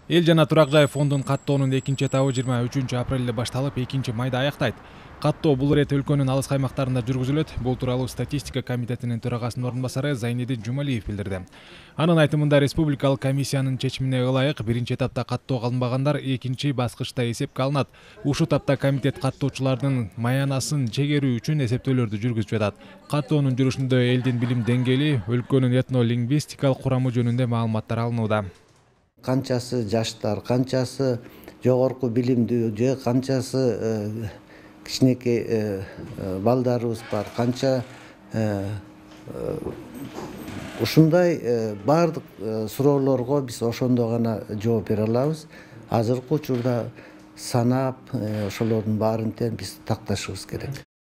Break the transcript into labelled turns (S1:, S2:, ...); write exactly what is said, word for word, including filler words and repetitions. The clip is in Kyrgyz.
S1: Эл жана турак жай фондун каттоонун экинчи этабы жыйырма үчүнчү апрелде башталып, экинчи майда аяктайт. Каттоо бул ирет өлкөнүн алыс аймактарында жүргүзүлөт. Бул тууралуу статистика комитетинин төрагасынын орун басары Зайнидин Жумалиев билдирди. Анын айтымында, республикалык комиссиянын чечимине ылайык биринчи этапта каттоого алынбагандар экинчи баскычта эсепке алынат. Ушул этапта комитет каттоочулардын маянасын чегерүү үчүн эсептөөлөрдү жүргүзүп жатат. Каттоонун жүрүшүндө элдин билим деңгээли, өлкөнүн этно-лингвистикалык курамы жөнүндө маалыматтар алынууда.
S2: Канчасы жаштар, канчасы жогорку билимдүү, же канчасы кичинекей балдарыбыз бар, канча ушундай баардык суроолорго биз ошондо гана жооп бере алабыз. Азыркы учурда санап ошолордун баарын тең биз такташыбыз керек.